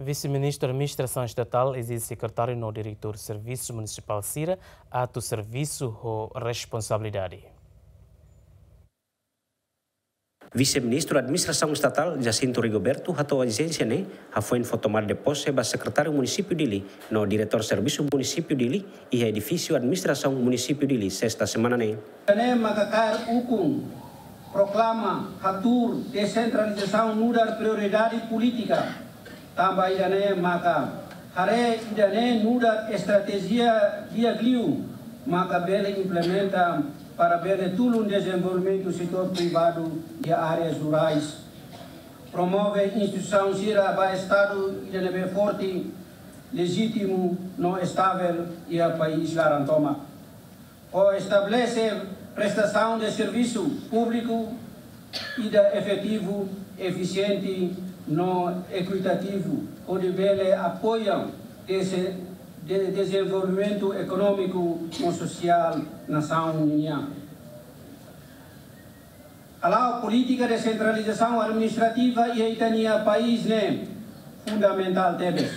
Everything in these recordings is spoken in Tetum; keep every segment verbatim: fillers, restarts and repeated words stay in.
Vise-Ministru Administrasaun Estatál ezije sekretáriu no diretór servisu munisipál sira atu servisu ho responsabilidade. Vise-Ministru Administrasaun Estatál, Jacinto Rigoberto, hato'o ezijénsia ne'e hafoin fó tomada de pose ba Sekretáriu Munisípiu Dili no Diretór Servisu Munisípiu Dili iha edifísiu Administrasaun Munisípiu Dili, sesta semana ne'e. Ida-ne'e maka kaer ukun, proklama, hatuur desentralizasaun nu'udar prioridade polítika. Tanba ida-ne'e maka haree ida-ne'e nu'udar estratéjia di'ak liu maka bele implementa para bele tulun dezenvolvimentu setór privadu iha áreas rurais. Promove instituisaun sira ba Estadu ida ne'ebé forte, lejítimu no estavel iha país laran tomak. Ho estabelese prestasaun de servisu públiku ida efetivu, efisiente no ekuitativu, hodi bele apoia dese-, de-, dezenvolvimentu ekonómiku no sosiál nasaun nian. Hala'o polítika desentralizasaun administrativa iha ita-nia país ne'e fundamentál tebes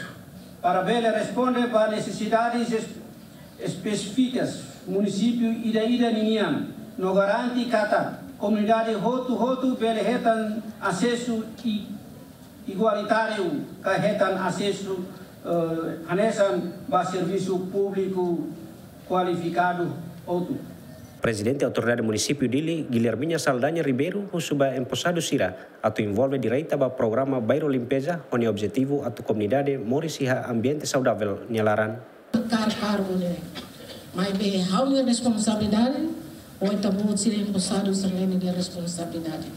para bele responde ba nesesidades es-, espesífikas munisípiu ida-ida ninian, no garante katak komunidade hotu-hotu bele hetan asesu i-, igualitáriu ka hetan asesu, eh, hanesan ba servisu públiku kualifikadu hotu. Prezidente Autoridade Munisípiu Dili, Guilhermina Saldanha Ribeiro, husu ba emposadu sira atu envolve direta ba programa Bairro Limpeza, ho nia objetivu atu komunidade moris iha ambiente saudavel nia laran. Kaer kargu ne'e. Maibé ha'u-nia responsabilidade, ou ita-boot sira emposadu sira-ne'e nia responsabilidade.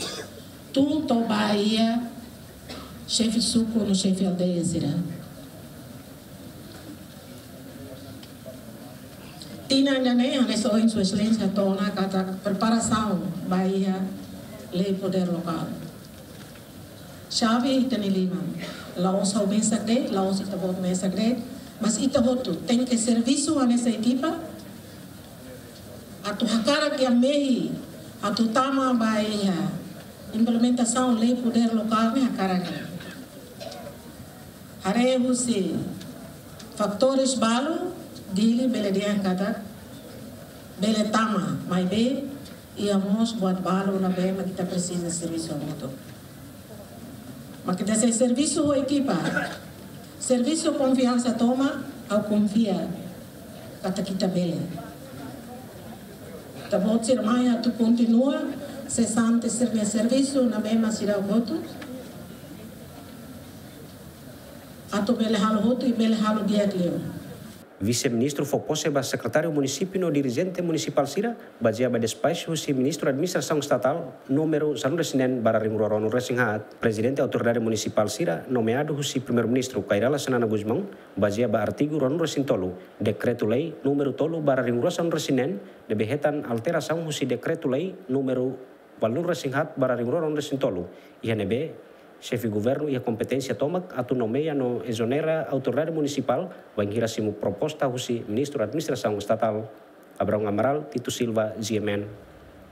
Tun to'o ba iha xefe suku no xefe aldeia sira. Tinan ida-ne'e, hanesan ohin Sua Exelénsia to'o ona katak preparasaun ba iha lei podér lokál. Xave ita-nia liman. La'ós ha'u mesak de'it, la'ós ita-boot mesak de'it, mas ita hotu tenke servisu hanesan ekipa, atu hakarak iha mehi, atu tama ba iha implementasaun lei podér lokál ne'e hakarak ne'e. Haree husi fatores balu, Dili bele dehan katak bele tama, maibé iha mós buat balu ne'ebé mak ita presiza servisu hamutuk. Mak ita sei servisu ho ekipa, servisu konfiansa tomak, ha'u konfia katak ita bele. Ita-boot sira mai atu kontinua sesante sira-nia servisu ne'ebé mak seidauk hotu, atu bele halo hotu i bele halo di'ak liu. Vise-Ministru fó pose ba sekretáriu munisípiu no dirijente munisipál sira, bazeia ba despaxu husi Ministru Administrasaun Estatál númeru sanulu-resin-neen barra ringrua ruanulu-resin-haat. Prezidente Autoridade Munisipál sira nomeadu husi Primeiru-Ministru Kay Rala Xanana Gusmão, bazeia ba artigu ruanulu-resin-tolu Dekretu-Lei númeru tolu barra ringrua sanulu-resin-neen, ne'ebé hetan alterasaun husi Dekretu-Lei númeru ualunulu-resin-haat barra ringrua ruanulu-resin-tolu, iha ne'ebé xefe governu iha kompeténsia tomak atu nomeia no ezonera autoridade munisipál, bainhira simu proposta husi Ministru Administrasaun Estatál. Abraão Amaral, Tito Silva, G M N.